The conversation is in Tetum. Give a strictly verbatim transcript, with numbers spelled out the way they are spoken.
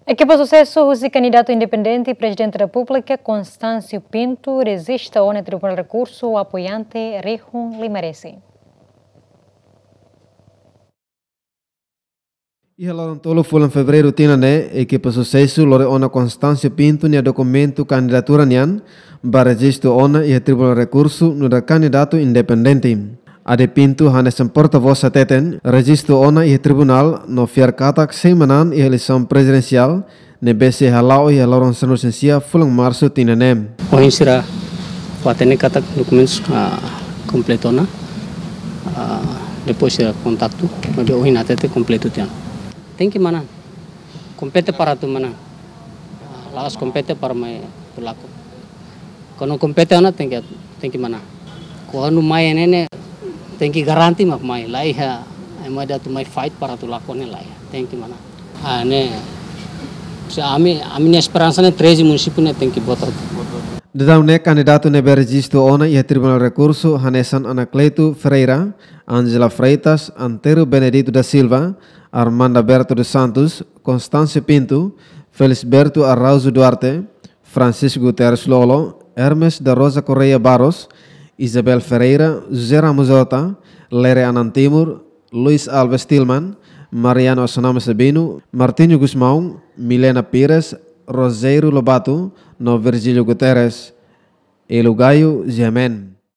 Ekipa susesu husi kandidatu independente Prezidente Repúblika, Constâncio Pinto, rejista ona iha Tribunál Rekursu apoiante rihun lima resin. Iha loron tolu fulan Fevereiru tinan ne'e, ekipa susesu lori ona Constâncio Pinto nia dokumentu kandidatura nian ba rejistu ona iha Tribunál Rekursu nu'udar kandidatu independente. Ade Pinto hanesan portavós hateten, rejistu ona iha tribunál no fiar katak sei manán iha eleisaun prezidensiál ne'ebé sei hala'o iha loron sanulu-resin-sia fulan Marsu tinan ne'e. Ohin sira hatene katak dokumentus, ah, kompletu ona. Ah, depois sira kontaktu, maibé ohin hatete kompletu tiha ona. Tenke manán. Kompete para atu manán. Ah, la'ós kompete para mai atu lakon. Kuandu kompete ona tenke, tenke manán. Kuandu mai ne'e ne'e tenke garante mak mai, laiha ema atu mai fight para atu lakon ne'e laiha. Tenke manán. Ah, ne'e. Se ami, ami-nia esperansa ne'e treze munisípiu ne'e tenke vota. Daudaun ne'e kandidatu ne'ebé rejistu ona iha Tribunál Rekursu hanesan Anacleto Ferreira, Ângela Freitas, Antero Benedito da Silva, Armanda Berto dos Santos, Constâncio Pinto, Felisberto Araújo Duarte, Francisco Guterres Lolo, Hermes da Rosa Correia Barros, Isabel Ferreira, José Ramos Horta, Lere Anan Timur, Luis Alves Tilman, Mariano Assunama Sabino, Martinho Gusmão, Milena Pires, Rogério Lobato, no Virgílio Guterres. Elo Gaio, G M N.